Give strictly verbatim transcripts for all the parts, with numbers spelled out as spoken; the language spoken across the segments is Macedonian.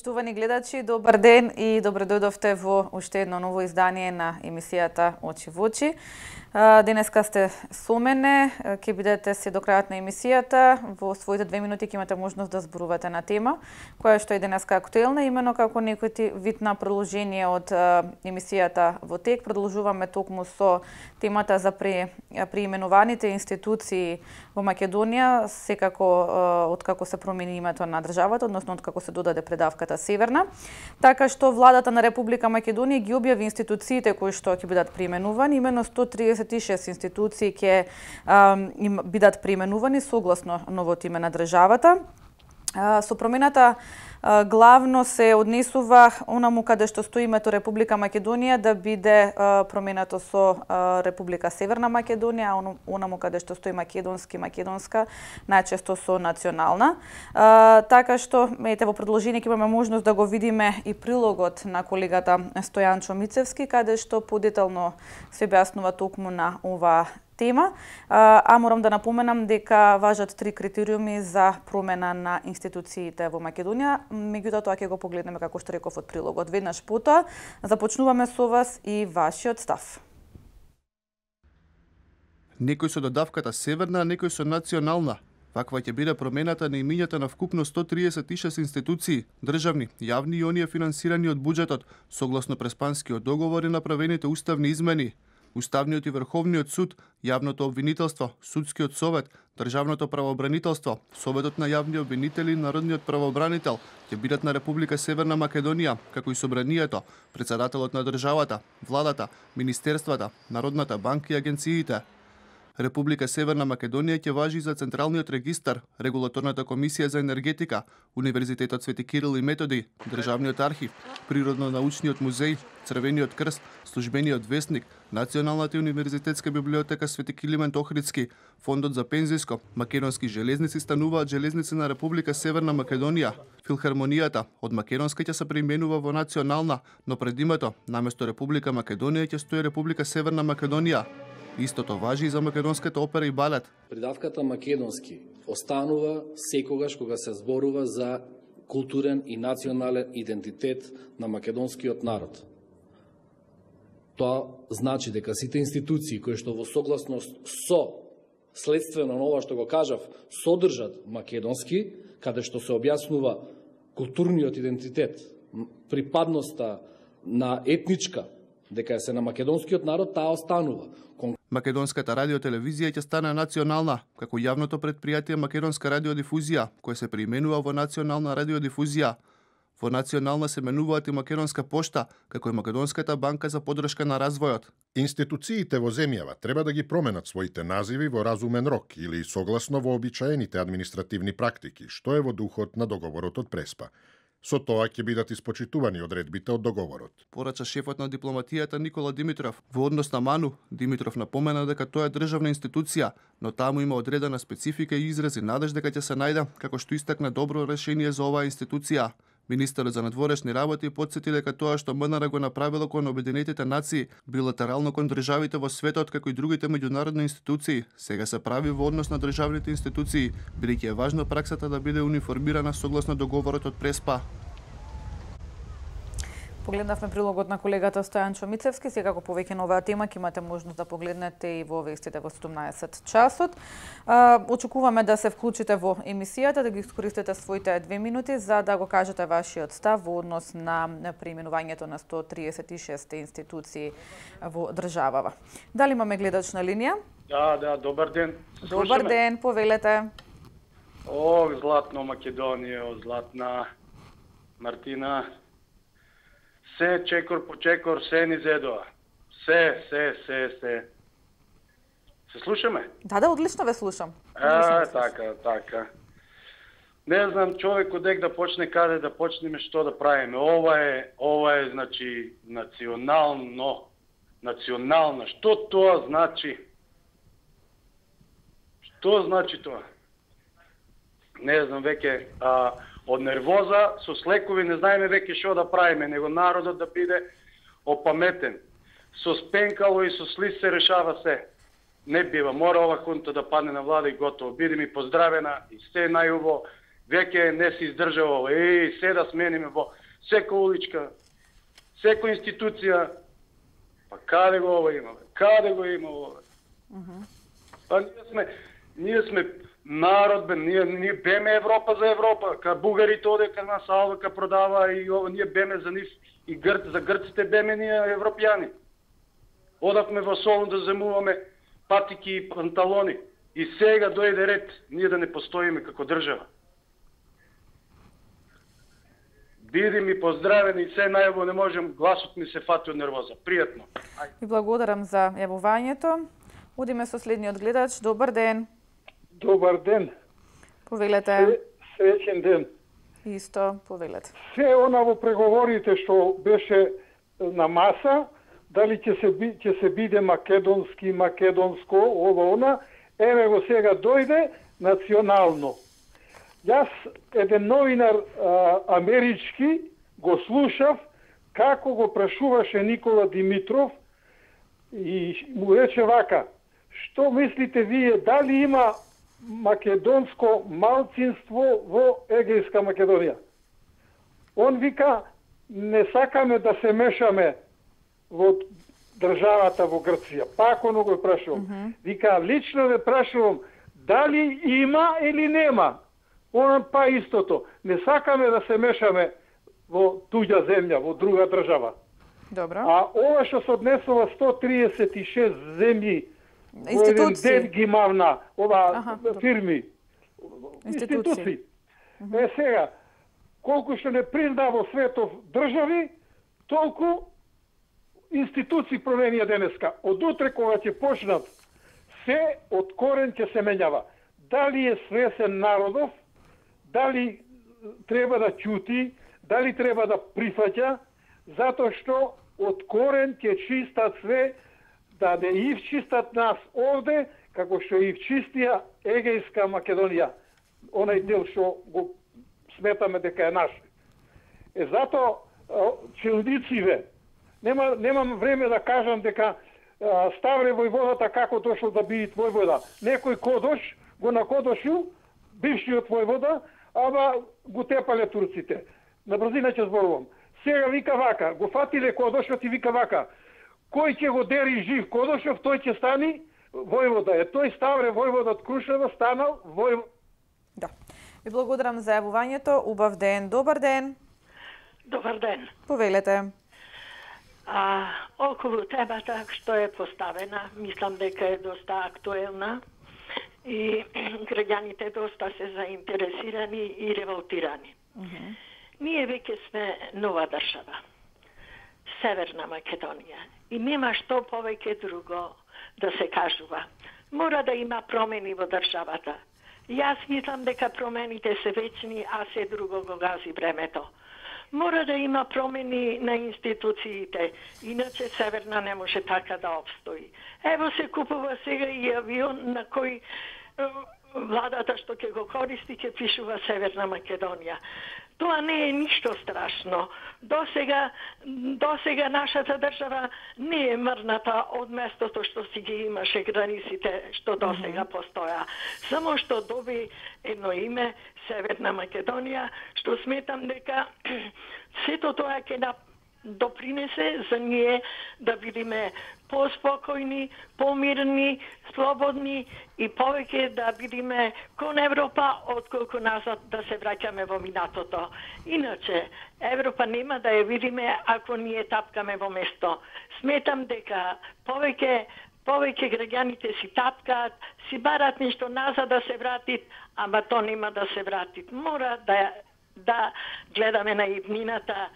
Почитувани гледачи, добар ден и добре дојдовте во уште едно ново издание на емисијата Очи во очи. Денеска сте со мене, ќе бидете се до крајот на емисијата. Во своите две минути ќе имате можност да зборувате на тема која што е денеска актуелна, имено како некој вид на продолжение од емисијата во тек. Продолжуваме токму со темата за преименуваните институции во Македонија, секако откако се промени името на државата, односно откако се додаде предавката Северна. Така што владата на Република Македонија ги објави институциите кои што ќе бидат преименувани, имено сто триесет и шест институции ќе им бидат преименувани согласно новото име на државата. Со промената главно се однесува онаму каде што стои името Република Македонија да биде променато со Република Северна Македонија, а онаму каде што стои македонски, македонска, најчесто со национална. Така што, ете, во продолжение ќе имаме можност да го видиме и прилогот на колегата Стојан Чомицевски, каде што подетално се објаснува токму на ова тема, а морам да напоменам дека важат три критериуми за промена на институциите во Македонија. Меѓутоа тоа ќе го погледнеме, како што реков, од прилогот. Веднаш потоа започнуваме со вас и вашиот став. Некој со додавката Северна, а некој со национална. Ваква ќе биде промената на имињата на вкупно сто триесет и шест институции, државни, јавни и оние финансирани од буџетот, согласно Преспанскиот договор и направените уставни измени. Уставниот и Врховниот суд, јавното обвинителство, судскиот совет, државното правообранителство, советот на јавни обвинители и народниот правообранител ќе бидат на Република Северна Македонија, како и собранието, претседателот на државата, владата, министерствата, Народната банка и агенциите. Република Северна Македонија ќе важи за Централниот регистар, Регулаторната комисија за енергетика, Универзитетот Свети Кирил и Методи, Државниот архив, Природно-научниот музеј, Црвениот крст, Службениот весник, Националната и универзитетска библиотека Свети Килимент Охридски, Фондот за пензиско, Македонски железници стануваат железници на Република Северна Македонија. Филхармонијата од македонска ќе се преименува во национална, но пред името наместо Република Македонија ќе стои Република Северна Македонија. Истото важи и за македонската опера и балет. Придавката македонски останува секогаш кога се зборува за културен и национален идентитет на македонскиот народ. Тоа значи дека сите институции кои што во согласност со следствено на ова што го кажав содржат македонски, каде што се објаснува културниот идентитет, припадноста на етничка, дека се на македонскиот народ, таа останува. Македонската радиотелевизија ќе стане национална, како јавното предпријатие Македонска радиодифузија, кој се преименува во Национална радиодифузија. Во национална се менуваат и Македонска пошта, како и Македонската банка за поддршка на развојот. Институциите во земјава треба да ги променат своите називи во разумен рок или согласно вообичаените административни практики, што е во духот на договорот од Преспа. Со тоа ќе бидат испочитувани одредбите од договорот. Порача шефот на дипломатијата Никола Димитров. Во однос на Ману, Димитров напомена дека тоа е државна институција, но таму има одредена специфика и изрази надеж дека ќе се најде, како што истакна, добро решение за оваа институција. Министерот за надворешни работи потсети дека тоа што МНР го направило кон Обединетите нации, билатерално кон државите во светот, како и другите меѓународни институции, сега се прави во однос на државните институции, бидејќи е важно праксата да биде униформирана согласно договорот од Преспа. Погледнавме прилогот на колегата Стојан Чомицевски. Секако повеќе на оваа тема ќе имате можност да погледнете и во вестите во седумнаесет часот. Очекуваме да се вклучите во емисијата, да ги искористите своите две минути за да го кажете вашиот став во однос на преименувањето на сто триесет и шест институции во државава. Дали имаме гледач на линија? Да, да, добар ден. Добар ден, повелете. О, златно Македонија, златна Мартина. Се чекор по чекор, се ни зедоа. Се, се, се, се. Се слушаме? Да, да, одлично ве слушам. А, така, така. Не знам човек одек да почне, каде да почнеме, што да правиме. Ова е, ова е, значи, национално. Национална. Што тоа значи? Што значи тоа? Не знам, веќе... А, од нервоза, со слекови не знаеме веќе што да правиме, него народот да биде опаметен. Со спенкало и со слиз се решава се. Не бива, мора ова хунта да падне на влада и готово. Биде ми поздравена и се најубо. Веќе не се издржава. Еј, се да смениме во секоја уличка, секоја институција. Па каде го ова има? Каде го има ова? Uh-huh. Па ние сме, ние сме народ, бе, ние, ние беме Европа за Европа. Ка бугарите оде кај нас алва ка продава и ова, ние беме за нив и грц, за грците беме ние европјани. Одавме во Солун да земуваме патики и панталони. И сега дојде ред ние да не постоиме како држава. Биди ми поздравени и се најаво не можем, гласот ми се фати од нервоза. Пријатно. Ви благодарам за јавувањето. Одиме со следниот гледач. Добар ден. Добар ден. Повелете. Среќен ден. Исто, повелете. Се она во преговорите што беше на маса, дали ќе се би, ќе се биде македонски, македонско, ова она, еве го сега дојде национално. Јас, еден новинар а, амерички, го слушав како го прашуваше Никола Димитров и му рече вака: што мислите вие, дали има македонско малцинство во Егејска Македонија? Он вика: не сакаме да се мешаме во државата во Грција. Пак оно го прашувам. Mm-hmm. Вика: лично ве прашувам, дали има или нема? Он па истото. Не сакаме да се мешаме во туѓа земја, во друга држава. Добро. А ова што се однесува сто триесет и шест земји, во еден ден ги мавна, ова Аха, фирми, институции. институции. Mm-hmm. Е сега, колку што не призна во светов држави, толку институции променија денеска. Од утре кога ќе почнат, се од корен ќе се менјава. Дали е свесен народов, дали треба да ќути, дали треба да прифаќа, затоа што од корен ќе чистат све, да не ив чистат нас овде, како што ив чистија Егејска Македонија. Онај дел што го сметаме дека е наш. Е затоа чиновнициве, нема немам време да кажам дека а, Ставре војводата како дошол да биде војвода. Некој кодош го накодошил бившиот војвода, ама го тепале турците. На брзина ќе зборувам. Сега вика вака, го фатиле кодошот и вика вака: кој ќе го дери жив кодошов, тој ќе стани војвода. Е тој Ставре војвода од Крушева станал војвода. Да. Ви благодарам за јавувањето. Убав ден. Добар ден. Добар ден. Повелете. А, околу темата што е поставена, мислам дека е доста актуелна и граѓаните доста се заинтересирани и револтирани. Uh-huh. Ние веќе сме нова држава, Северна Македонија, и нема што повеќе друго да се кажува. Мора да има промени во државата. Јас мислам дека промените се вечни, а се друго го гази времето. Мора да има промени на институциите, иначе Северна не може така да обстои. Ево се купува сега и авион на кој владата што ќе го користи ќе пишува Северна Македонија. Тоа не е ништо страшно. До сега, до сега нашата држава не е мрната од местото што си ги имаше границите што до сега постоја. Само што доби едно име Северна Македонија, што сметам дека сето тоа ќе на допринесе за ние да бидеме поспокојни, помирни, слободни и повеќе да бидеме кон Европа, отколку назад да се враќаме во минатото. Иначе, Европа нема да ја видиме ако ние тапкаме во место. Сметам дека повеќе повеќе граѓаните си тапкаат, си барат нешто назад да се вратит, ама то нема да се вратит. Мора да, да гледаме на иднината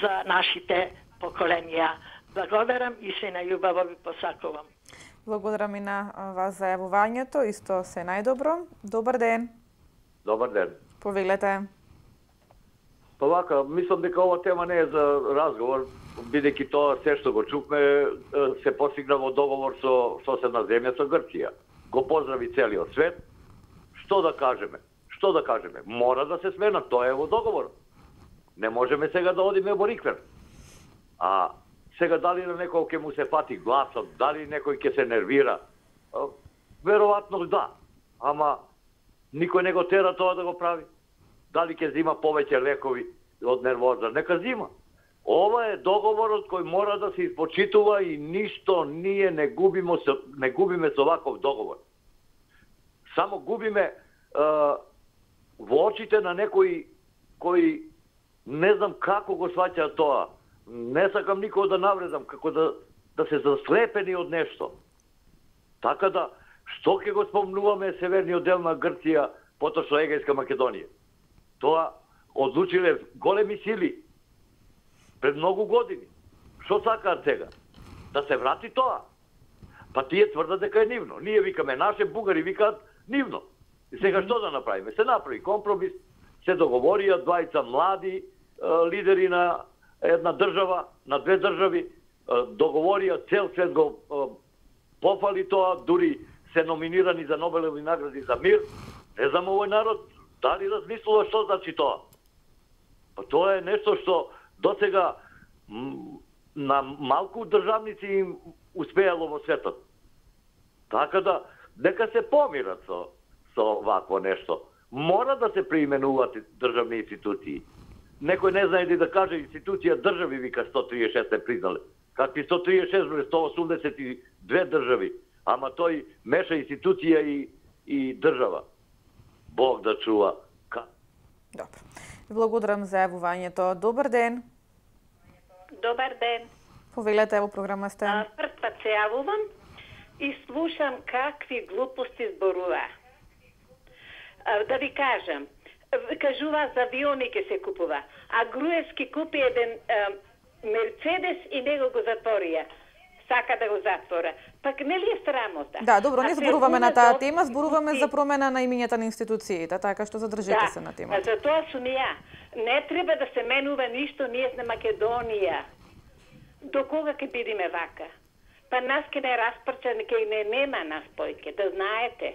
за нашите поколенија. Благодарам и се најубаво ви посакувам. Благодарам и на вас за јавувањето, исто се најдобро. Добар ден. Добар ден. Повелете. Па вака, мислам дека ова тема не е за разговор, бидејќи тоа се што го чукме се постигна во договор со соседна земја, со Грција. Го поздрави целиот свет. Што да кажеме? Што да кажеме? Мора да се смена, тоа е во договор. Не можеме сега да одиме во риквер. А сега дали на некој ќе му се фати гласот, дали некој ќе се нервира, веројатно да. Ама никој не го тера тоа да го прави. дали ќе зима повеќе лекови од нервоза, нека зима. Ова е договорот кој мора да се испочитува и ништо ние не губиме со, не губиме со ваков договор. Само губиме е, во очите на некои кои не знам како го сваќа тоа. Не сакам никој да навредам, како да, да се заслепени од нешто. Така да, што ќе го спомнуваме северниот дел на Грција, поточно Егејска Македонија? Тоа одлучиле големи сили пред многу години. Што сакаат сега? Да се врати тоа? Па тие тврдат дека е нивно. Ние викаме наше, бугари викаат нивно. И сега што да направиме? Се направи компромис, се договорија двајца млади е, лидери на една држава, на две држави, е, договорија, цел свет го е, пофали тоа, дури се номинирани за Нобелови награди за мир. Не знам овој народ дали размислува што значи тоа. Па тоа е нешто што досега на малку државници им успеало во светот. Така да, нека се помират со, со вакво нешто. Мора да се преименуваат државни институции. Некој не знае да каже институција држави, вика сто триесет и шест е признале. Какви сто триесет и шест бре, сто осумдесет и две држави. Ама тој меша институција и, и држава. Бог да чува. Добро. Благодарам за јавувањето. Добар ден. Добар ден. Повелете, во програма сте. Прв пат се јавувам и слушам какви глупости зборува. А, да ви кажам, кажува за авиони ке се купува, а Груевски купи еден а, Мерцедес и него го затворија. Сака да го затвора. Пак не ли е срамота? Да, добро, не зборуваме на таа тема, зборуваме за промена на имињата на институциите, така што задржете да, се на темата. Да, за тоа сум ја. Не треба да се менува ништо, ние сме Македонија. До кога ќе бидиме вака? Па нас ке не распрча, ке не нема нас појке, да знаете.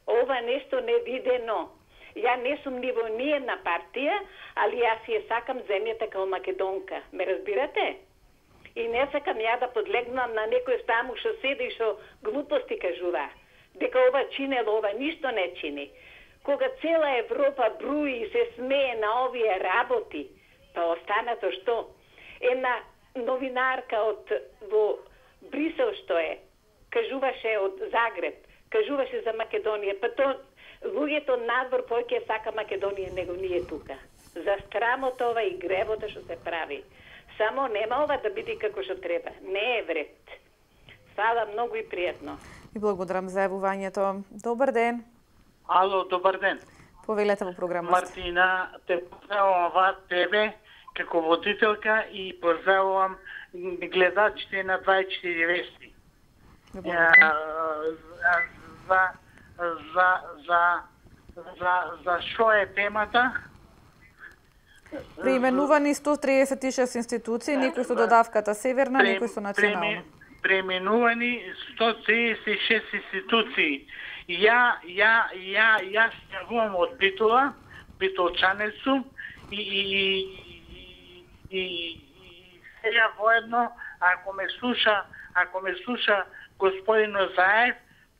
Ова нешто невидено. Ја не сум ни во ниједна партија, али јас ја сакам земјата као македонка. Ме разбирате? И не сакам ја да подлегнам на некој таму што седи и што глупости кажува. Дека ова чинело, ова ништо не чини. Кога цела Европа бруи и се смее на овие работи, па останато што? Една новинарка од во Брисел што е, кажуваше од Загреб, кажуваше за Македонија, па то луѓето надвор поќе сака Македонија, него ние тука. За страмота ова и гревота што се прави. Само нема ова да биде како што треба. Не е вред. Фала многу и пријатно. И благодарам за јавувањето. Добар ден. Ало, добар ден. Повелете во програмата. Мартина, те поздравувам вас, тебе, како водителка и поздравувам гледачите на двајсет и четири вести. За, за, за, за, за, за што е темата? Преименувани сто триесет и шест институции, некои со додавката Северна, некои со национална. Преименувани сто триесет и шест институции. Ја, ја, ја, ја стјавувам од Битола, битолчанец сум, и, и, и, и, и сега воедно, ако ме слуша, ако ме слуша господин Озаев,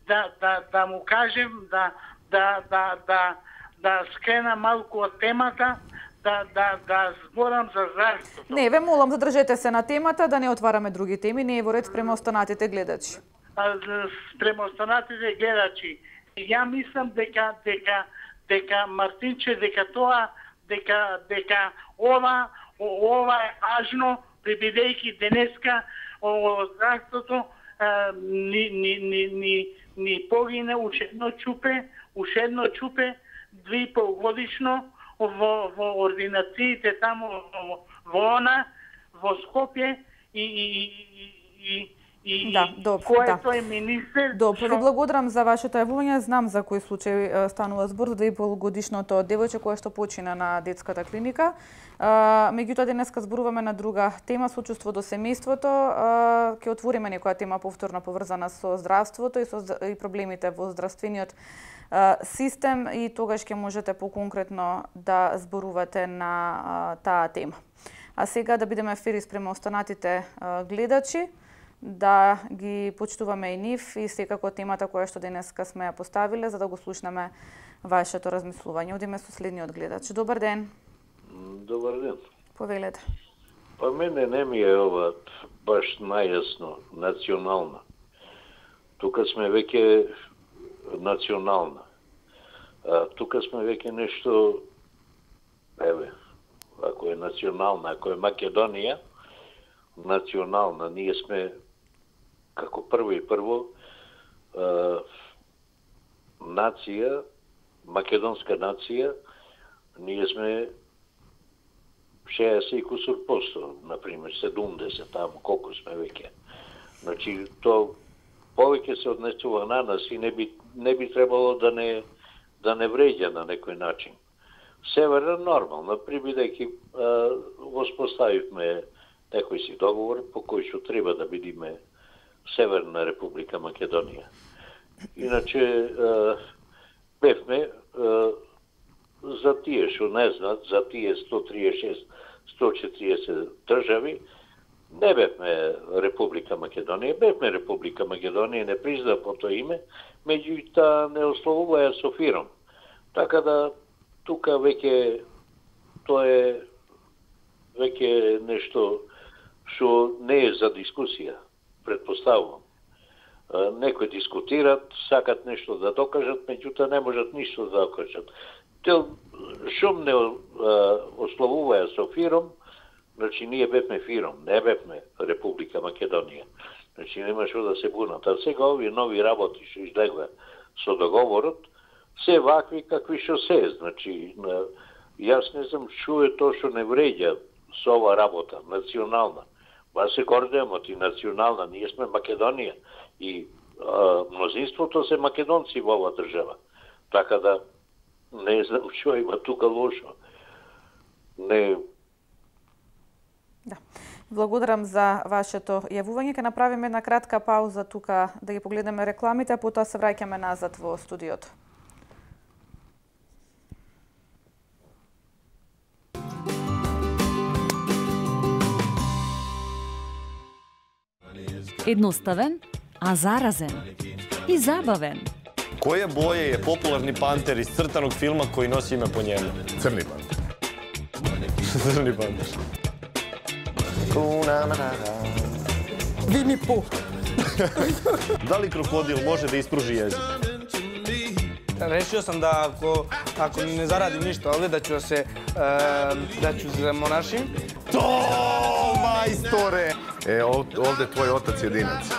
да, да, да му кажем, да, да, да, да, да скрена малку од темата, да, да, да зборам за здравството. Не, ве молам, задржете се на темата, да не отвараме други теми, не е во ред спрема останатите гледачи. Спрема останатите гледачи. Ја мислам дека дека дека Мартинче дека тоа дека дека ова ова е важно, бидејќи денеска здравството ни ни ни ни ни погине уште едно чупе, уште едно чупе две и пол годишно во во ординациите таму во, во она во Скопје и и и и да, добро, кој да. е министер. Добро, ви благодарам за вашето јавување. Знам за кој случај станува збор за две и пол годишното девојче кое што почина на детската клиника. Меѓутоа денеска зборуваме на друга тема, сочувство до семејството. Ќе отвориме некоја тема повторно поврзана со здравството и со и проблемите во здравствениот систем и тогаш ќе можете поконкретно да зборувате на таа тема. А сега да бидеме фери спрема останатите гледачи, да ги почитуваме и нив и секако темата која што денеска сме ја поставиле, за да го слушнеме вашето размислување. Одиме со следниот гледач. Добар ден. Добар ден. Повелете. Па мене не ми е ова баш најасно национална. Тука сме веќе национална. А, тука сме веќе нешто, еве, ако е национална, ако е Македонија, национална, ние сме како прво и прво а, нација, македонска нација, ние сме шеесет и кусур посто, например, седумдесет, таму колку сме веќе. Значи, то повеќе се однесува на нас и не би, не би требало да не, да не вреѓа на некој начин. Северна нормално, прибидејќи воспоставивме некој си договор по кој што треба да бидиме Северна Република Македонија. Иначе бевме за тие што не знаат, за тие сто триесет и шест сто четириесет држави, не бевме Република Македонија, бевме Република Македонија, не призна по тоа име, меѓутоа не ословуваја со фиром. Така да тука веќе тоа е веќе нешто што не е за дискусија, предпоставувам. Некои дискутират, сакат нешто да докажат, меѓутоа не можат ништо да докажат. Те шум не ословуваја со фиром, значи ние бевме фиром, не бевме Република Македонија. Значи нема што да се бунат. А сега овие нови работи што излегува со договорот, се вакви какви што се. Значи, јас не знам што е тоа што не вреѓа со ова работа, национална. Ба се гордеемо ти национална, ние сме Македонија и а, мнозинството се македонци во оваа држава. Така да не знам што има тука лошо. Не. Да. Благодарам за вашето јавување. Ке направиме една кратка пауза тука да ги погледнеме рекламите, а потоа се враќаме назад во студиото. Едноставен, а заразен и забавен. Која боја е популарни пантер из цртаnog филма кој носи име по njemu? Црни пантер. Црни пантер. Вини Пух. Дали крокодил може да испружи језик? Решио сам да ако ако не зарадим ништо овде да ќе се да ќе се монашим. То, мајсторе! Е, овде твој отац единец.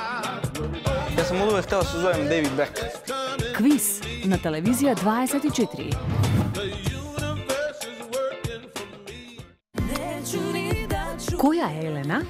Јас сум одувек хотел да се зовем Дейвид Бек. Квиз на телевизија дваесет и четири. Која е Елена,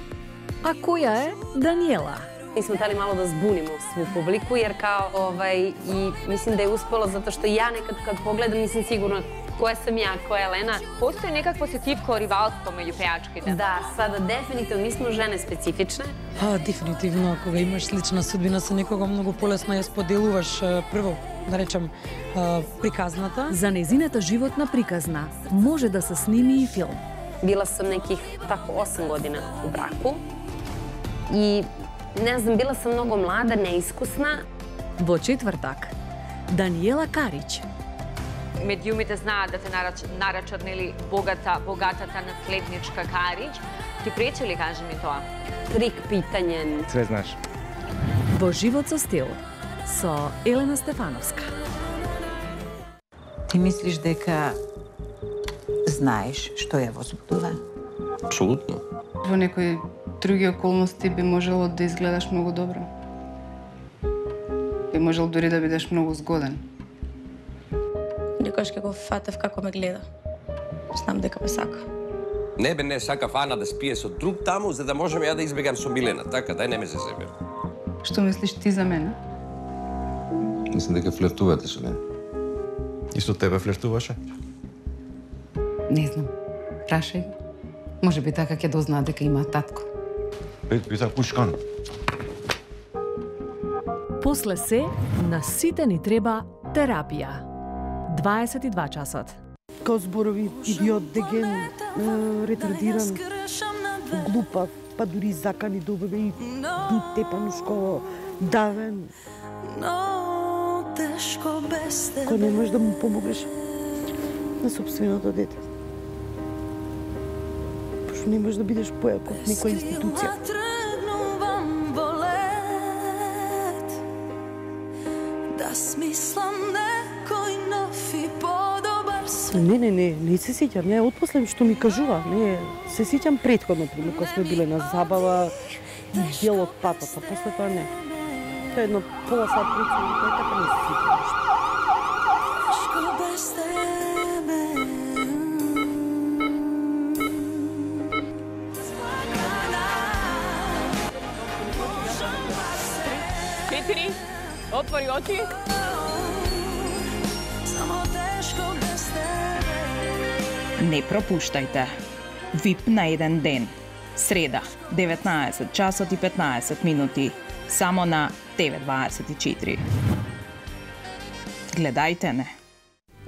а која е Даниела? И сме тали мало да збунимо сву публику, jer kao, ovaj, i mislim da je uspelo zato što ja nekad kad pogledam nisam sigurna koja sam ja, koja je Elena. Postoji nekakvo сетивко ривалство меѓу пејачките? Да, sada definitivno, mi smo žene specifične. А, дефинитивно, кога имаш слична судбина со некого, многу полесно ја споделуваш прво, да речем, приказната. За незината животна приказна може да се сними и филм. Bila sam nekih tako osam godina u braku i ne znam, bila sam mnogo mlada, neiskusna. Во четвртак, Даниела Карич. Медиумите знаат да те нарачат, богата, богатата наследничка Карич. Ти прече ли, кажи ми тоа? Трик питање. Све знаеш. Во живот со стил, со Елена Стефановска. Ти мислиш дека знаеш што ја возбудува? Апсолутно. Во некои други околности би можело да изгледаш многу добро. Би можел дури да бидеш многу згоден. Некојаш ќе го фатев како ме гледа. Знам дека ме сака. Не бе, не сака Ана да спие со друг таму, за да можем ја да избегам со Милена. Така, дај не ме се себе. Што мислиш ти за мене? Мислам дека флиртувате со мене. И со тебе флиртуваше? Не знам. Прашај. Може би така ќе дознаа дека има татко. Пет пита пушкан. После се, на сите ни треба терапија. дваесет и два часот. Као зборови идиот, деген, ретардиран, глупав, па дури закани да убеме и тепанушко, давен. Кој не можеш да му помогнеш на собственото дете. Пошто не можеш да бидеш појак од некоја институција. Не, не, не, не се сеќам, не, отпосле што ми кажува, не, се сеќам претходно, кога сме биле на забава, дел од патата, после тоа не. Тоа е едно пола сат прицелно, тоа е така не се сеќам нешто. Четири, отвори очи. Не пропуштајте. Вип на еден ден. Среда, деветнаесет часот и петнаесет минути. Само на Т В дваесет и четири. Гледајте не.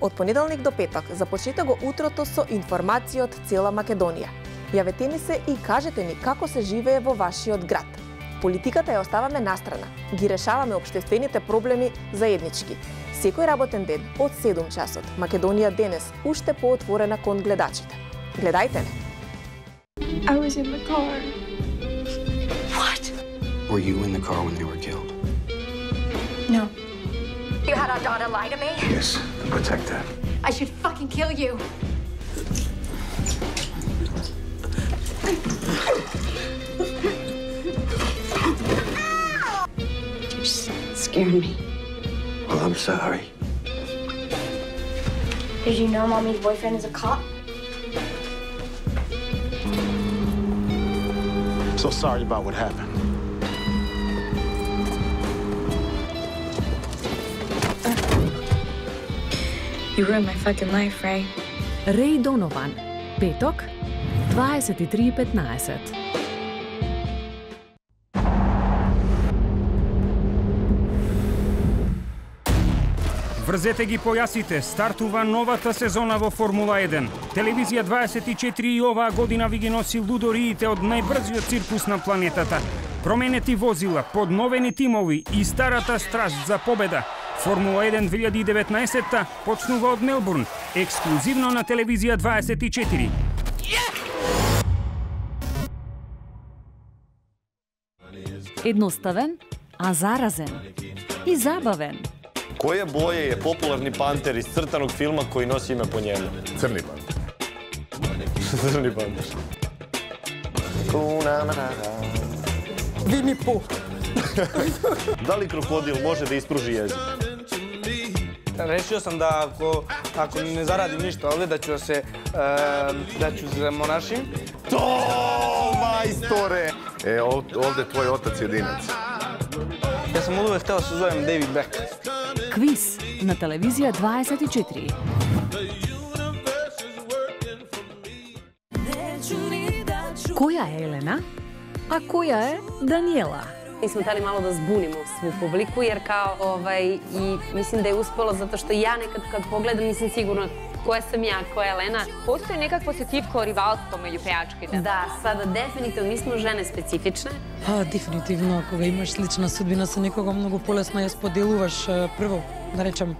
Од понеделник до петок започнете го утрото со информација од цела Македонија. Јавете ни се и кажете ни како се живее во вашиот град. Политиката ја оставаме настрана. Ги решаваме општествените проблеми заеднички. Секој работен ден од седум часот. Македонија денес уште поотворена кон гледачите. Гледајте не. I was in the car. What? Were you in the car when they were killed? No. You had our daughter lie to me? Yes, to protect her. I should fucking kill you. You're scaring me. Well, I'm sorry. Did you know Mommy's boyfriend is a cop? So sorry about what happened. You ruined my fucking life, Ray. Рей Донован. Петок, дваесет и три и петнаесет. Врзете ги појасите, стартува новата сезона во Формула еден. Телевизија дваесет и четири и оваа година ви ги носи лудориите од најбрзиот циркус на планетата. Променети возила, подновени тимови и старата страст за победа. Формула еден две илјади и деветнаесетта почнува од Мелбурн, ексклузивно на Телевизија дваесет и четири. Едноставен, а заразен. И забавен. Која боја е популарни пантер из цртаног филма кој носи име по njemu? Црни пантер. Црни пантер. Вини По. Дали крокодил може да испружи језик? Решио сам да ако ако не зарадим ништо овде да ќе се да ќе се монашим. То, мајсторе! Е, овде твој отац единац. Јас сум одувек хотел да се зовем Дейвид Бек. Квиз на Телевизија дваесет и четири. Која е Елена, а која е Даниела? И сме тали мало да збунимо сву публику, jer kao, ovaj, i mislim da je uspelo zato što ja nekad kad pogledam nisam sigurna koja sam ja, koja je Elena. Postoji nekakvo setivko rivalstvo među pejačkите? Da, sada definitivno, mi smo žene specifične. А, дефинитивно, кога имаш слична судбина со некого, многу полесно ја споделуваш прво, да речем,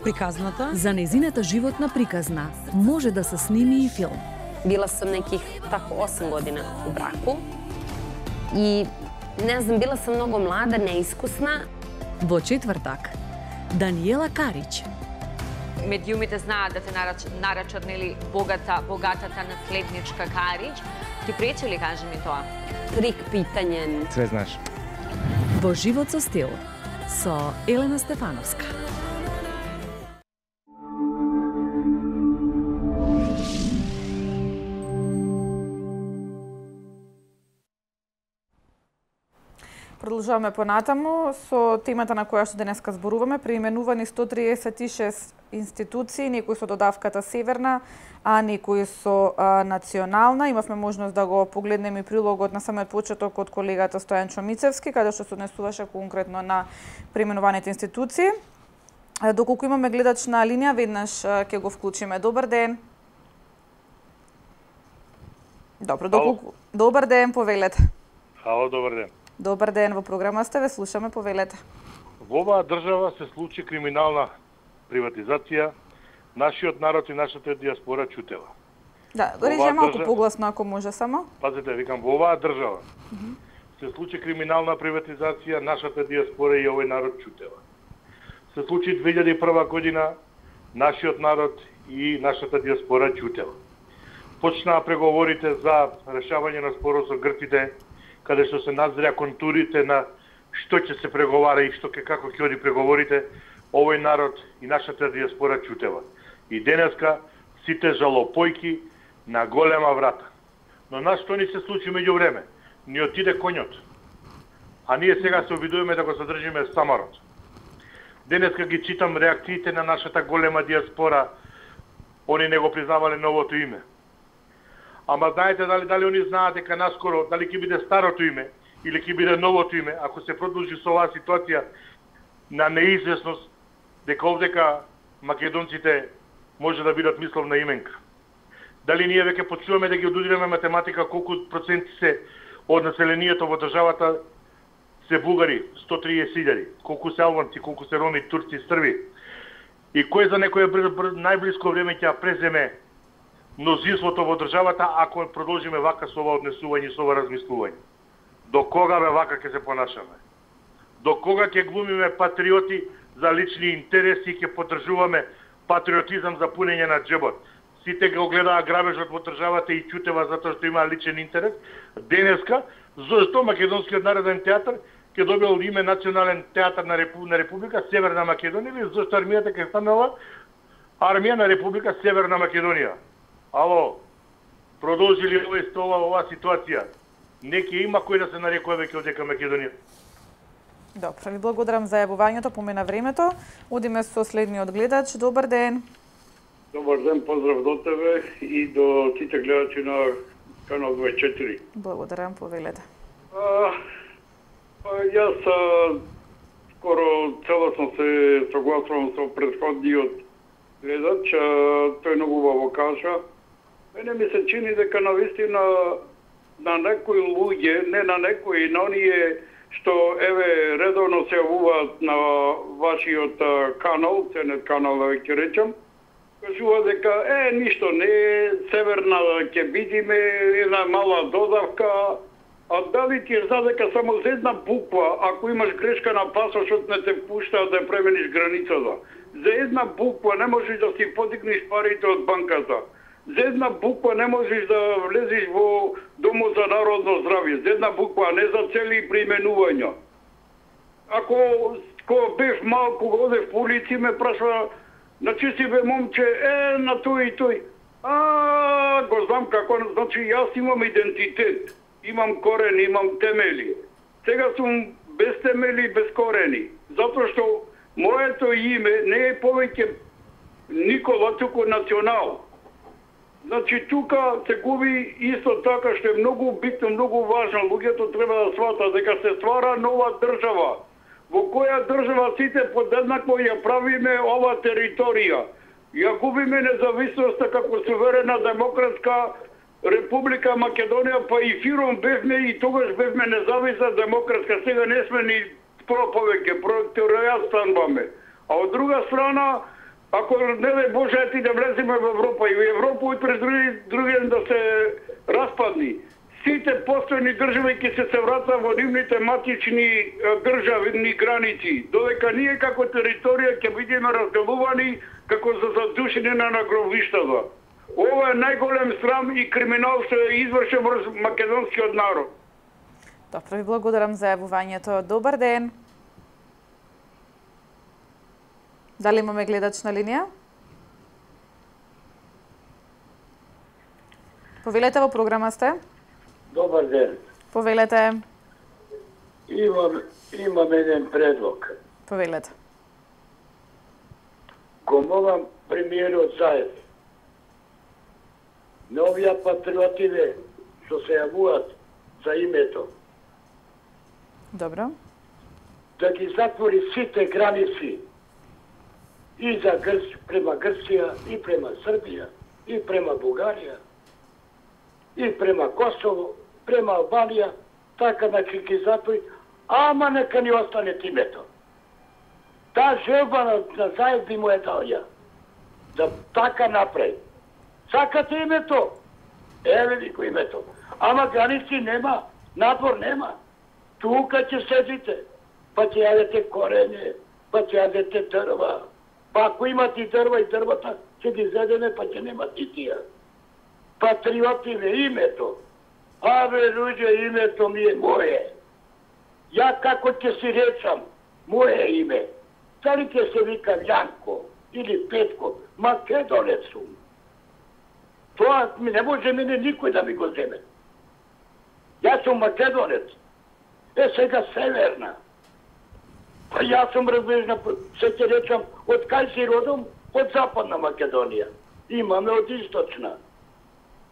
приказната. За незината животна приказна може да се сними и филм. Bila sam nekih tako osam godina u braku i ne znam, bila sam mnogo mlada, neiskusna. Во четвртак, Даниела Карич. Медиумите знаат да те нарач, нарачарнили богата, богатата наследничка Карич. Ти пречи ли, кажи ми тоа? Трик питањен. Све знаеш. Во живот со стил со Елена Стефановска. Продолжаваме понатаму со темата на која што денеска зборуваме, преименувани сто триесет и шест институции, некои со додавката Северна, а некои со а, национална. Имавме можност да го погледнеме и прилогот на самиот почеток од колегата Стојан Чомицевски, каде што се однесуваше конкретно на преименуваните институции. Доколку имаме гледач на линија, веднаш ќе го вклучиме. Добар ден. Добро, доколку... Добар ден, повелете. Ало, добар ден. Добар ден, во програма сте, ве слушаме, повелете. Во оваа држава се случи криминална приватизација, нашиот народ и нашата диаспора чутела. Да, го рече малку држава... погласно ако може само. Пазете, викам, во оваа држава mm -hmm. се случи криминална приватизација, нашата диаспора и овој народ чутела. Се случи две илјади и прва година, нашиот народ и нашата диаспора чутела. Почнаа преговорите за решавање на спорот со грците, каде што се назря контурите на што ќе се преговара и што ќе како ќе оди преговорите, овој народ и нашата диаспора чутела. И денеска сите жалопојки на голема врата. Но нас што ни се случи меѓу време? Ни отиде коњот. А ние сега се обидуваме да го задржиме стамарот. Денеска ги читам реакциите на нашата голема диаспора. Они не го признавале новото име. Ама знаете дали дали они знаат дека наскоро дали ќе биде старото име или ќе биде новото име, ако се продолжи со оваа ситуација на неизвестност, дека овдека македонците може да бидат мисловна именка. Дали ние веќе почуваме да ги одудираме математика колку проценти се од населението во државата се бугари, сто триесет илјади, колку се албанци, колку се роми, турци, срби. И кој за некој најблиско време ќе преземе мнозинството во државата ако продолжиме вака со ова однесување, со ова размислување? До кога бе вака ќе се понашаме? До кога ќе глумиме патриоти за лични интереси и ќе поддржуваме патриотизам за пунење на џебот? Сите го гледаа грабежот во државата и чутева затоа што има личен интерес. Денеска, зашто Македонскиот народен театар ќе добил име Национален театар на, Репу... на Република Северна Македонија или зашто армијата ќе станала Армија на Република Северна Македонија? Ало, продолжи ли овој стола оваа ситуација? Неќе има кој да се нарекува веќе одека Македонија. Добро, ви благодарам за јавувањето, помина времето. Одиме со следниот гледач. Добар ден. Добар ден, поздрав до тебе и до сите гледачи на канал дваесет и четири. Благодарам, повелете. А, а, јас а, скоро целосно се согласувам со претходниот гледач, а, тој многу убаво кажа. Мене ми се чини дека навистина на некои луѓе, не на некои, на оние што еве редовно се јавуваат на вашиот канал, ценет канал да ќе речам, кажува дека е ништо не, северна ќе бидиме, една мала додавка, а дали ти знаеш дека само за една буква, ако имаш грешка на пасошот, не те пушта да премениш границата. За една буква не можеш да си подигнеш парите од банката. За една буква не можеш да влезеш во Домот за народно здравје. За една буква, не за цели применувања. Ако ко бев малку, одев по улици, ме прашва, значи си бе момче, е, на тој и тој. А, го знам како, значи јас имам идентитет, имам корени, имам темели. Сега сум без темели, без корени. Затоа што моето име не е повеќе Никола, туку Национал. Значи, тука се губи исто така што е многу битно, многу важно. Луѓето треба да сватат дека се ствара нова држава. Во која држава сите подеднакво ја правиме ова територија. Ја губиме независноста како суверена демократска Република Македонија, па и фиром бевме и тогаш бевме независна демократска. Сега не сме ни про повеќе, проекторија станбаме. А од друга страна, ако не дај Боже ти да влеземе во Европа и во Европа и през други, други да се распадни, сите постојни држави ќе се се вратат во нивните матични државни граници, додека ние како територија ќе бидеме разделувани како за задушени на гробиштата. Ова е најголем срам и криминал што е извршен врз македонскиот народ. Добро, ви благодарам за јавувањето. Добар ден. Дали имаме гледач на линија? Повелете, во програма сте. Добар ден. Повелете. Имам, имам еден предлог. Повелете. Го молам премиерот Заев. На овие патриотиве што се јавуваат за името. Добро. Да ги затвори сите граници и за Грц, према Грција, и према Србија, и према Бугарија, и према Косово, према Албанија, така да ќе ги затвори, ама нека ни остане името. Таа желба на, на заедни му е даја. Да така направи. Сакате името? Еве ви го името. Ама граници нема, надвор нема. Тука ќе седите, па ќе јадете корење, па ќе јадете дрва. Па ако имате и дрва и дрвата, ќе ги зедеме, па ќе нема и тија. Патриоти ве името. Абе, луѓе, името ми е моје. Ја како ќе си речам, моје име. Дали ќе се вика Јанко или Петко, македонец сум. Тоа ми не може мене никој да ми го земе. Јас сум македонец. Е сега северна. Па јас сум разбежна, се ќе речам, од кај си родом? Од западна Македонија. Имаме од источна.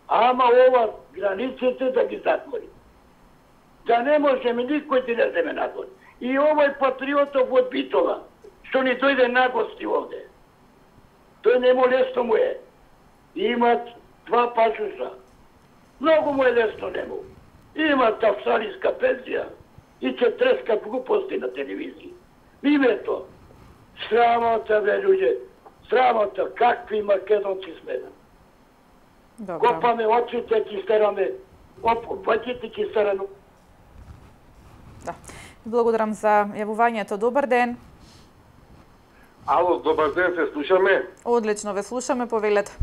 Ама ова границите да ги затвори. Да не можеме никој да не земе надвор. И овој патриотов од Битола, што ни дојде на гости овде. Тој не му лесно му е. Имат два пасуса. Многу му е лесно нему. Имат австралиска пензија и ќе треска глупости на телевизија. Името. Срамота, бе, луѓе. Срамота. Какви македонци сме. Добро. Копаме очите, ќе стераме. Опаќите ќе стераме. Да. Благодарам за јавувањето. Добар ден. Ало, добар ден, се слушаме. Одлично ве слушаме, повелете.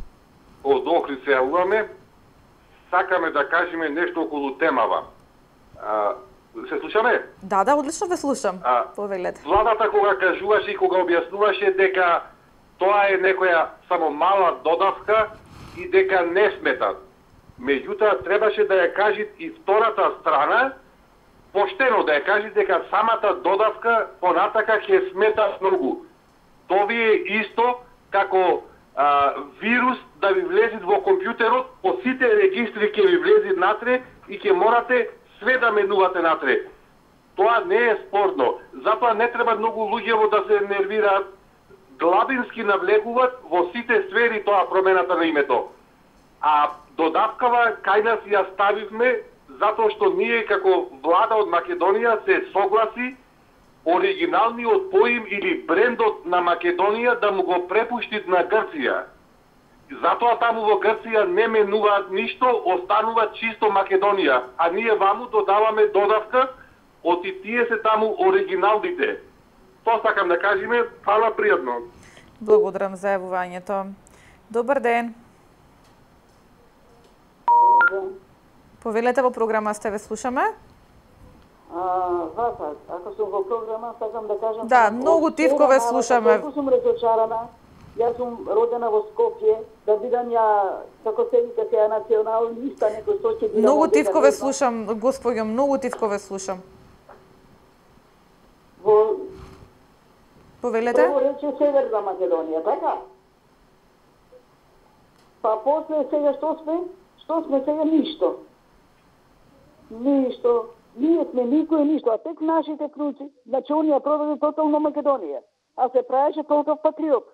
Од Охрид се јавуваме. Сакаме да кажеме нешто околу темава. А, се слушаме? Да, да, одлично ве слушам. А, повелете. Владата кога кажуваше и кога објаснуваше дека тоа е некоја само мала додавка и дека не смета. Меѓутоа, требаше да ја кажи и втората страна, поштено да ја кажи дека самата додавка понатака ќе смета многу. Тоа ви е исто како а, вирус да ви влези во компјутерот, по сите регистри ќе ви влези натре и ќе морате све да менувате натре. Тоа не е спорно. Затоа не треба многу луѓе да се нервираат. Главински навлегуваат во сите сфери тоа промената на името. А додавкава кај нас ја ставивме затоа што ние како влада од Македонија се согласи оригиналниот поим или брендот на Македонија да му го препушти на Грција. Затоа таму во Грција не менуваат ништо, останува чисто Македонија, а ние ваму додаваме додавка од и тие се таму оригиналните. Тоа сакам да кажеме, фала пријатно. Благодарам за јавувањето. Добар ден. Повелете, во програма сте, ве слушаме. Вака, ако сум во програма, сакам да кажам... Да, многу тивко ве слушаме. Толку сум разочарана. Јас сум родена во Скопје, да бидам ја, како се вика сега, националниста, некој што ќе бидам... Многу тивко ве слушам, господјо, многу тивко ве слушам. Во... Повелете? Прво рече Северна Македонија, така? Па после сега што сме? Што сме сега? Ништо. Ништо. Ние сме никој ништо, а тек нашите круци, значи онија проведе тотално Македонија, а се правеше толков патриот.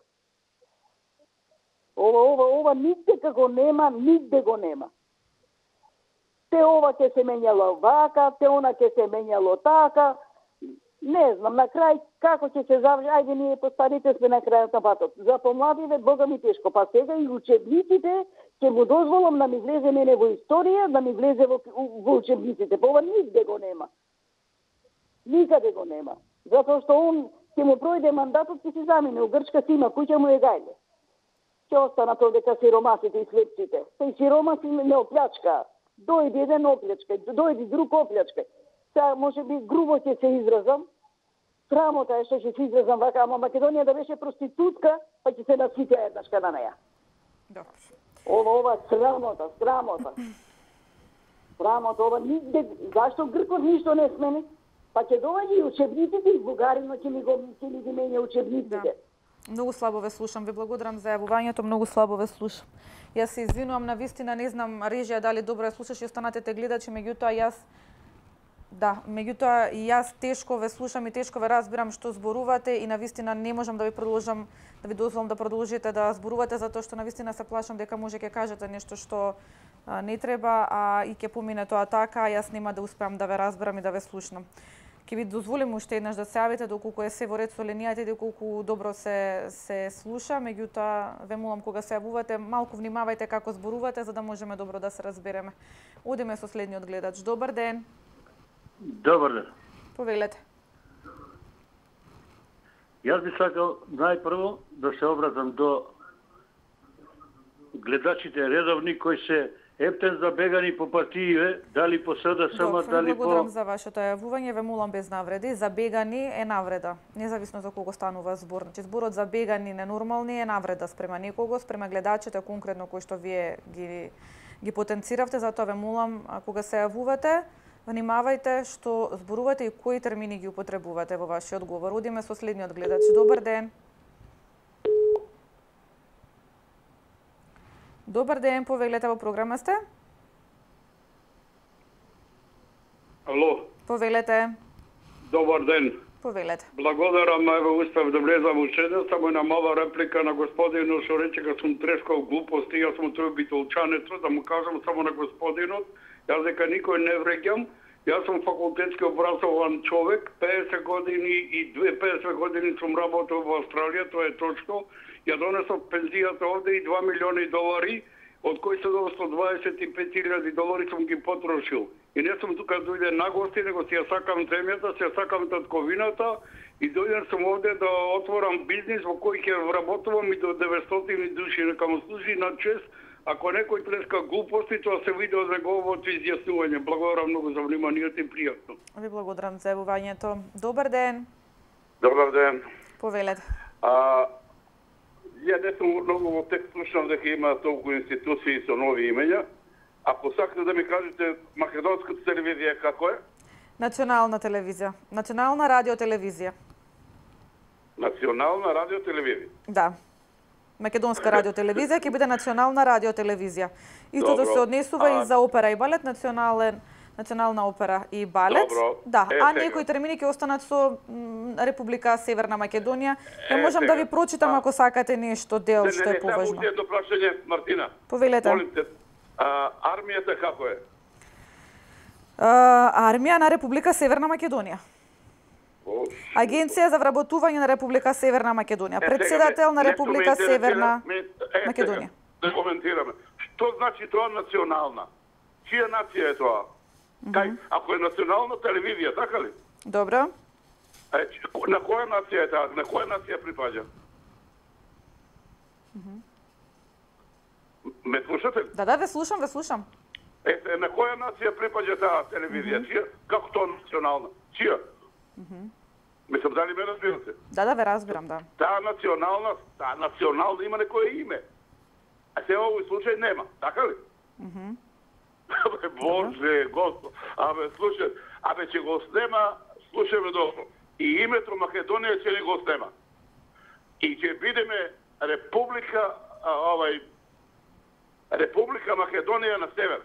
Ова, ова, ова нигде како нема, нигде го нема. Те ова ќе се менјало вака, те она ќе се менјало така, не знам, на крај како ќе се заврши, ајде ние постарите сме на крајот на патот. За помладиве, Бога ми тешко, па сега и учебниците ќе му дозволам да ми влезе мене во историја, да ми влезе во, во учебниците. Па ова нигде го нема. Никаде го нема. Затоа што он ќе му пројде мандатот, ќе се замине. У Грчка си има куќа, му е гајле. Ќе останат овдека сиромасите и слепците. Те и сиромаси не оплячка. Дојде еден оплячка, дојде друг оплячка. Сега може би грубо ќе се изразам. Срамота е што ќе се изразам вака, ама Македонија да беше проститутка, па ќе се насите еднашка на неја. Добро. Ова, ова, срамота, срамота. Срамота, ова нигде, зашто Гркот ништо не смени? Па ќе доаѓа и учебниците и бугарино ќе ми го ќе ми ги менја учебниците. Да. Многу слабо ве слушам, ви благодарам за јавувањето, многу слабо ве слушам. Јас се извинувам, навистина не знам режија дали добро ја слушаш и останатите гледачи, меѓутоа јас Да, меѓутоа и јас тешко ве слушам и тешко ве разбирам што зборувате и навистина не можам да ви продолжам, да ви дозволам да продолжите да зборувате затоа што навистина се плашам дека може ќе кажете нешто што а, не треба, а и ќе помине тоа така, а јас нема да успеам да ве разберам и да ве слушнам. Ќе ви дозволим уште еднаш да се јавите доколку е се во ред со линијата и доколку добро се се слуша, меѓутоа ве молам кога се јавувате малку внимавајте како зборувате за да можеме добро да се разбереме. Одиме со следниот гледач. Добар ден. Добар ден. Повелете. Јас би сакал најпрво да се обратам до гледачите редовни кои се ептен забегани по партиите, дали по СДСМ, дали по... Благодарам за вашето јавување, ве молам без навреди. Забегани е навреда, независно за кого станува збор. Значи зборот забегани ненормални е навреда спрема некого, спрема гледачите конкретно кои што вие ги ги потенциравте, затоа ве молам кога се јавувате, внимавајте што зборувате и кои термини ги употребувате во вашиот говор. Одиме со следниот гледач. Добар ден. Добар ден, повелете, во програма сте? Ало. Повелете. Добар ден. Повелете. Благодарам, еве успев да влезам уште еден, само една мала реплика на господинот што рече дека сум трешкал глупости, јас сум тој битолчанецот, да му кажам само на господинот, јас дека никој не вреќам, јас сум факултетски образован човек, педесет години и педесет години сум работел во Австралија, тоа е точно. Ја донесов пензијата овде и два милиони долари, од кои седумстотини дваесет и пет илјади долари сум ги потрошил. И не сум тука дојде на гости, него си ја сакам земјата, си ја сакам татковината и дојден сум овде да отворам бизнис во кој ќе вработувам и до деветстотини души, нека му служи на чест. Ако некој треска глупости, тоа се види од неговото изјаснување. Благодарам многу за вниманието и пријатно. Ви благодарам за јавувањето. Добар ден. Добар ден. Повелете. А, ја не сум многу во текст слушнав дека има толку институции со нови имења. Ако сакате да ми кажете македонската телевизија како е? Национална телевизија. Национална радиотелевизија. Национална радиотелевизија. Да. Македонска радиотелевизија ќе биде национална радиотелевизија. Истото се однесува а... и за опера и балет, национален национална опера и балет. Добро. Да, е, а сега. некои термини ќе останат со м, Република Северна Македонија. Ја можам сега. да ви прочитам а... ако сакате нешто дел не, што е поважно. Не, не, едно прашање, Мартина. Повелете. Молим те, а, армијата како е? А, армија на Република Северна Македонија. Агенција за вработување на Република Северна Македонија. Председател на Република Северна Македонија. Да коментираме. Што значи тоа национална? Чија нација е тоа? Кај, ако е национална телевизија, така ли? Добро. Е, на која нација е таа? На која нација припаѓа? Ме слушате? Да, да, ве слушам, ве слушам. Ете, на која нација припаѓа таа телевизија? Mm -hmm. Чија? Како тоа национална? Чија? Mm -hmm. Мислам, дали ме разбирате? Да, да, ве разбирам, да. Таа национална, таа национална има некој име. А се овој случај нема, така ли? Mm -hmm. Абе, Боже, Господ, абе, слушай, абе, ќе го снема, слушай ме добро, и името Македонија ќе ни го снема. И ќе бидеме Република, а, овај, Република Македонија на север.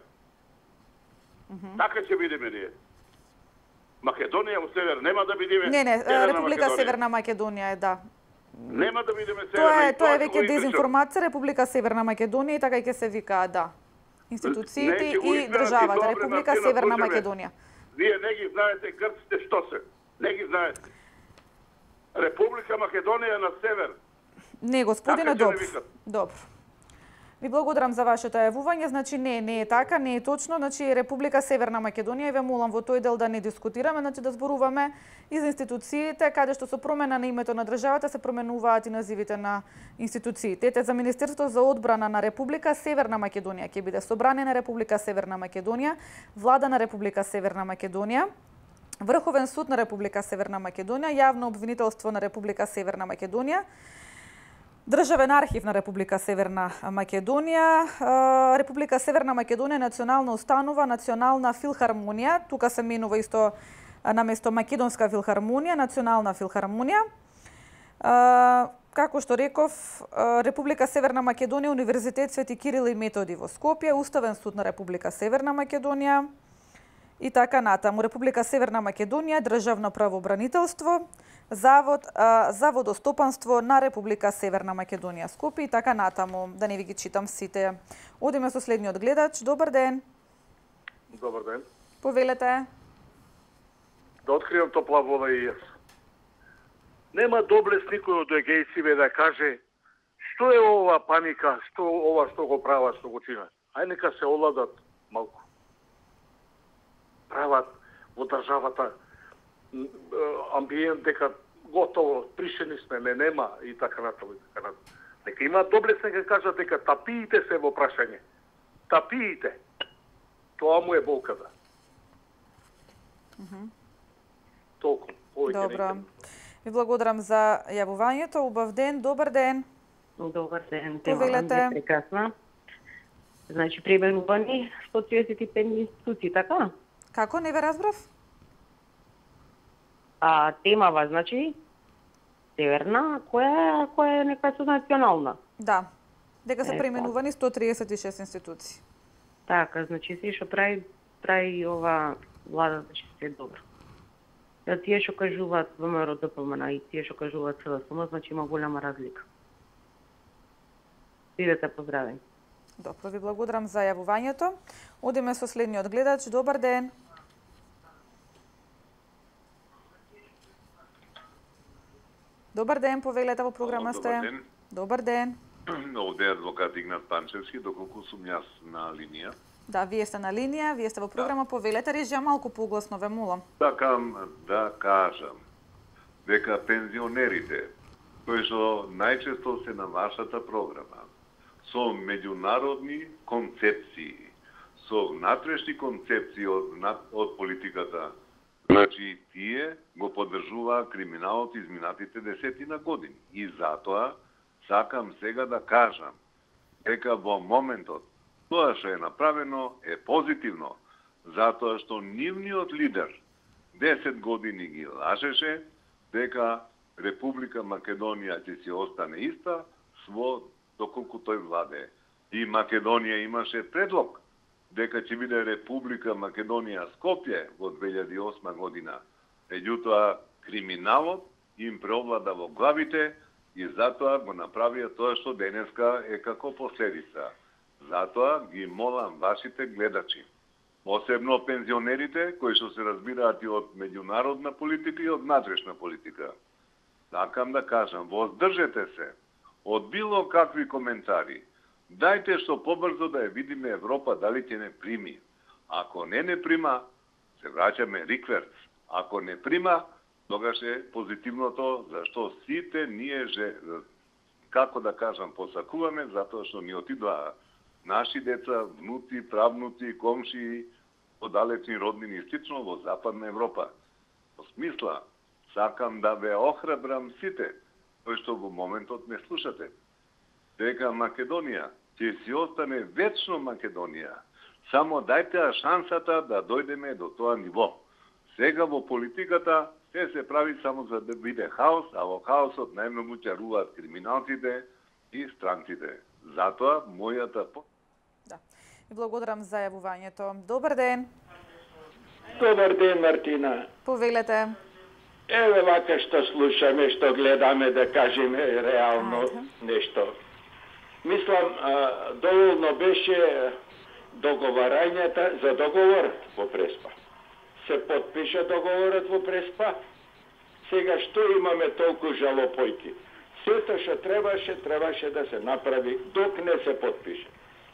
Mm -hmm. Така ќе бидеме ние. Македонија во север, нема да бидеме... Не, не, Северна Република Македонија. Северна Македонија е, да. Нема да бидеме северна. Тоа е, тоа е ќе веќе го дезинформација, Република Северна Македонија и така ќе се вика, да. Институциите Не, ќе го и изберат државата, добре, Република Мартина, Северна слушаме. Македонија. Вие не ги знаете грците што се. Не ги знаете. Република Македонија на север. Не, господине, Така ќе добро. не викат. Добро. Ви благодарам за вашето јавување. Значи не, не е така, не е точно. Значи Република Северна Македонија и ве молам во тој дел да не дискутираме, значи да зборуваме и за институциите, каде што со промена на името на државата се променуваат и називите на институциите. Ете за Министерство за одбрана на Република Северна Македонија ќе биде Собрание на Република Северна Македонија, Влада на Република Северна Македонија, Врховен суд на Република Северна Македонија, Јавно обвинителство на Република Северна Македонија, Државен архив на Република Северна Македонија, Република Северна Македонија, Национална установа, Национална филхармонија, тука се менува исто наместо Македонска филхармонија, Национална филхармонија. Како што реков, Република Северна Македонија, Универзитет Свети Кирил и Методи во Скопје, Уставен суд на Република Северна Македонија и така натаму. Република Северна Македонија, Државно правобранителство, Завод а, за водостопанство на Република Северна Македонија, Скопје и така натаму. Да не ви ги читам сите. Одиме со следниот гледач. Добар ден. Добар ден. Повелете. да откриам топла вода и јас. Нема доблес никој од егејциве да каже што е ова паника, што ова што го прават, што го чинат. Ај нека се оладат малку. Прават во државата амбиент дека готово, пришени сме, не нема и така натаму и така натаму. Нека има доблес, нека кажат дека тапиите се во прашање. Тапиите. Тоа му е болката. Мгм. Толку. Повеќе Добро. не Ви благодарам за јавувањето. Убав ден, добар ден. Добар ден. Повелете. Тема е прекрасна. Значи, пременувани сто триесет и пет институции, така? Како, не ве разбрав? А темава, значи, северна, која, која е некоја национална. Да. Дека се Е, преименувани сто триесет и шест институции. Така, значи, се што прави, прави ова влада, значи, се е добро. Да тие што кажуваат ВМРО ДПМН и тие што кажуваат СДСМ, значи има голема разлика. Бидете поздравени. Добро, ви благодарам за јавувањето. Одиме со следниот гледач. Добар ден. Добар ден, повелете во програма сте. Добар ден. Добар ден. Овде е адвокат Игнат Панчевски, доколку сум јас на линија. Да, вие сте на линија, вие сте во програма, повелете режија малку погласно, ве молам. Сакам да кажам дека пензионерите, кои што најчесто се на вашата програма, со меѓународни концепции, со внатрешни концепции од, од политиката, значи тие го поддржуваа криминалот изминатите десетина години. И затоа сакам сега да кажам дека во моментот тоа што е направено е позитивно, затоа што нивниот лидер десет години ги лажеше дека Република Македонија ќе си остане иста сво доколку тој владе. И Македонија имаше предлог дека ќе биде Република Македонија Скопје во две илјади и осма година. Меѓутоа, криминалот им преовлада во главите и затоа го направија тоа што денеска е како последица. Затоа ги молам вашите гледачи, посебно пензионерите кои што се разбираат и од меѓународна политика и од внатрешна политика. Сакам да кажам, воздржете се од било какви коментари. Дајте што побрзо да ја видиме Европа дали ќе не прими. Ако не не прима, се враќаме рикверц. Ако не прима, тогаш е позитивното, зашто сите ние же, како да кажам, посакуваме, затоа што ни отидоа наши деца, внути, правнути, комши, одалечни роднини и слично во Западна Европа. Во смисла, сакам да ве охрабрам сите, кои што во моментот не слушате, дека Македонија ќе си остане вечно Македонија. Само дајте шансата да дојдеме до тоа ниво. Сега во политиката се се прави само за да биде хаос, а во хаосот најмногу чаруваат криминалците и странците. Затоа мојата И благодарам за јавувањето. Добар ден. Добар ден, Мартина. Повелете. Еве вака што слушаме, што гледаме, да кажеме реално нешто. Мислам, доволно беше договарањата за договор во Преспа. Се подпиша договорот во Преспа. Сега што имаме толку жалопојки? Сето што требаше, требаше да се направи док не се подпише.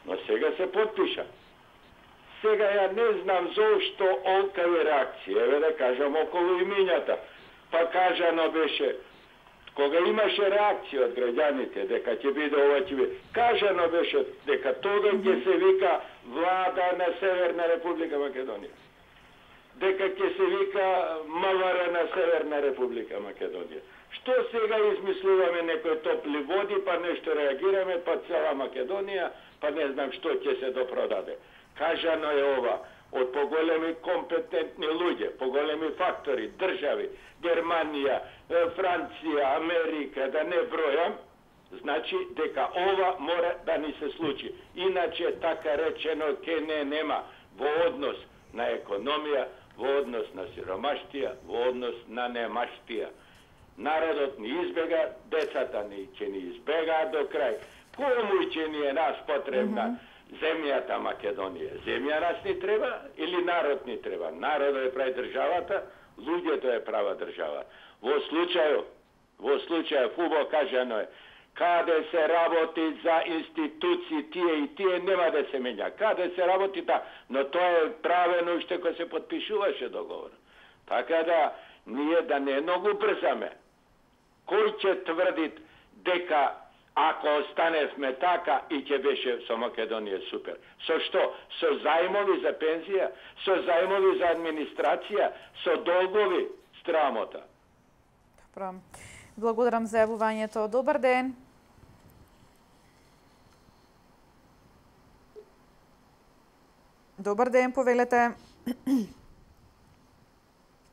Но сега се подпиша. Сега ја не знам зошто олкави реакции. Еве да кажам околу имињата. Па кажано беше, кога имаше реакција од граѓаните дека ќе биде ова ќе биде, кажано беше дека тога ќе се вика влада на Северна Република Македонија. Дека ќе се вика МВР на Северна Република Македонија. Што сега измислуваме некои топли води, па нешто реагираме, па цела Македонија, па не знам што ќе се допродаде. Кажано е ова од поголеми компетентни луѓе, поголеми фактори, држави, Германија, Франција, Америка, да не бројам, значи дека ова мора да ни се случи. Иначе така речено ке не нема во однос на економија, во однос на сиромаштија, во однос на немаштија. Народот ни избега, децата ни ќе ни избегаат до крај. Кому ќе ни е нас потребна mm -hmm. земјата Македонија? Земја нас ни треба или народ ни треба? Народот е прави државата, луѓето е права држава. Во случају, во случају фубо кажано е, каде се работи за институции, тие и тие нема да се менја. Каде се работи та, но тоа е правено уште кога се подпишуваше договор. Така да, ние да не многу брзаме. Кој ќе тврди дека ако останевме така и ќе беше со Македонија супер. Со што? Со зајмови за пензија, со зајмови за администрација, со долгови, страмота. Добро. Благодарам за јавувањето. Добар ден. Добар ден, повелете.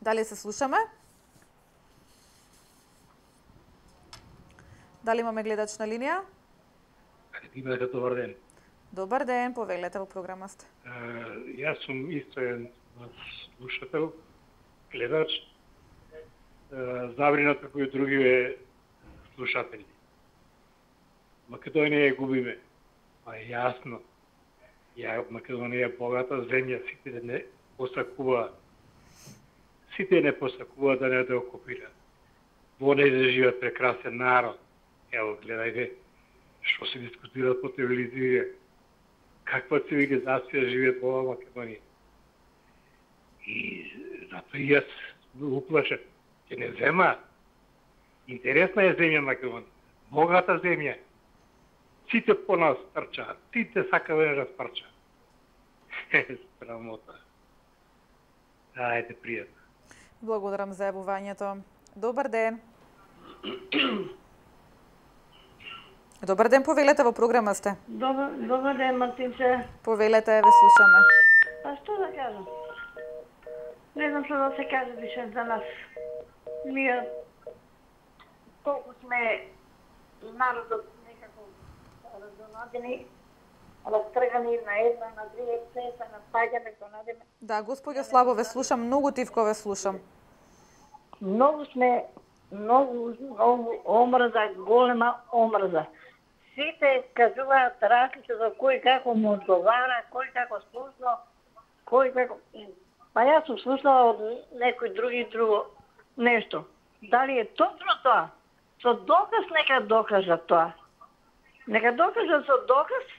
Дали се слушаме? Дали имаме гледач на линија? Имате добар ден. Добар ден, повелете, во програма сте. Јас сум исто еден слушател, гледач, забринат како и други слушатели. Македонија ја губиме. Па е јасно. Ја Македонија е богата земја, сите не посакуваат. Сите не посакуваат да не да окупираат. Во нејзе живеат прекрасен народ. Ево, гледајте, што се дискутираат по телевизија, каква цивилизација живеат во Македонија. И затоа и јас уплашам, ќе не земаат. Интересна е земја Македонија, богата земја. Сите по нас трчаат, сите сакаме да распрчаат. Срамота. Ајде, пријатно. Благодарам за јавувањето. Добар ден. Добар ден, повелете, во програма сте. Добар, добар ден, Мартинче. Повелете, ве слушаме. Па што да кажам? Не знам што да се каже више за нас. Ние толку сме народот некако раздонадени, растргани на една, на две, цеса, на паѓаме, што надеме. Да, господја Слабо, ве слушам, многу тивко ве слушам. Многу сме, многу, многу омрза, голема омрза. Сите кажуваат различно за кој како му одговара, кој како слушно, кој како... Па јас сум слушнала од некој други друго нешто. Дали е точно тоа? Со доказ нека докажат тоа. Нека докажат со доказ,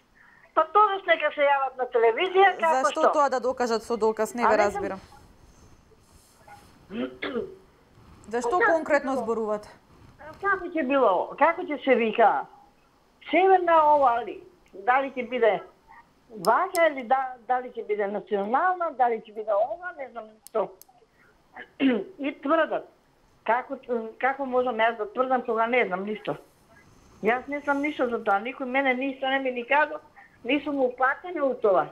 па тогаш нека се јават на телевизија, како што? Зашто тоа да докажат со доказ, не ве разбирам. Зашто конкретно зборувате? Како ќе било? Како ќе се вика? Северна ова ли? Дали ќе биде вака или да, дали ќе биде национална, дали ќе биде ова, не знам што. И тврдат. Како, како можам јас да тврдам кога не знам ништо? Јас не знам ништо за тоа. Никој мене ништо не ми ни кажа, ни сум упатена у тоа.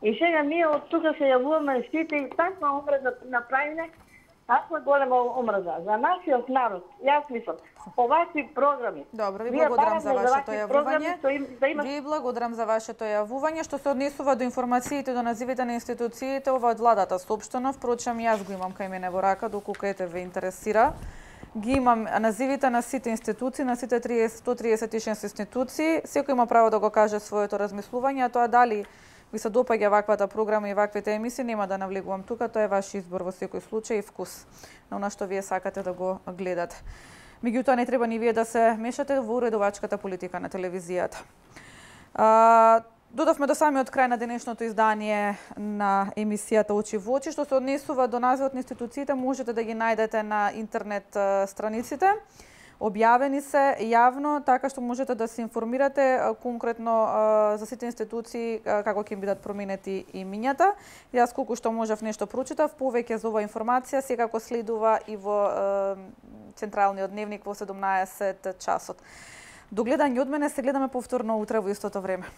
И сега ние од тука се јавуваме сите и таква омраза направиме, таква голема омраза за нашиот народ. Јас мислам, овакви програми. Добро, ви благодарам за вашето јавување. Ви благодарам за вашето јавување. Што се однесува до информациите, до називите на институциите, ова од владата соопштено, впрочем јас го имам кај мене во рака, доколку ете ве интересира. Ги имам називите на сите институции, на сите сто триесет и шест институции. Секој има право да го каже своето размислување, а тоа дали ви се допаѓа ваквата програма и ваквите емисии, нема да навлегувам тука, тоа е ваш избор во секој случај и вкус на она што вие сакате да го гледате. Меѓутоа не треба ни вие да се мешате во уредувачката политика на телевизијата. А, додавме до самиот крај на денешното издание на емисијата Очи во очи. Што се однесува до називот на институциите, можете да ги најдете на интернет страниците. Објавени се јавно, така што можете да се информирате конкретно за сите институции како ќе бидат променети имињата. Јас колку што можев нешто прочитав, повеќе за оваа информација секако следува и во централниот дневник во седумнаесет часот. До гледање од мене, се гледаме повторно утре во истото време.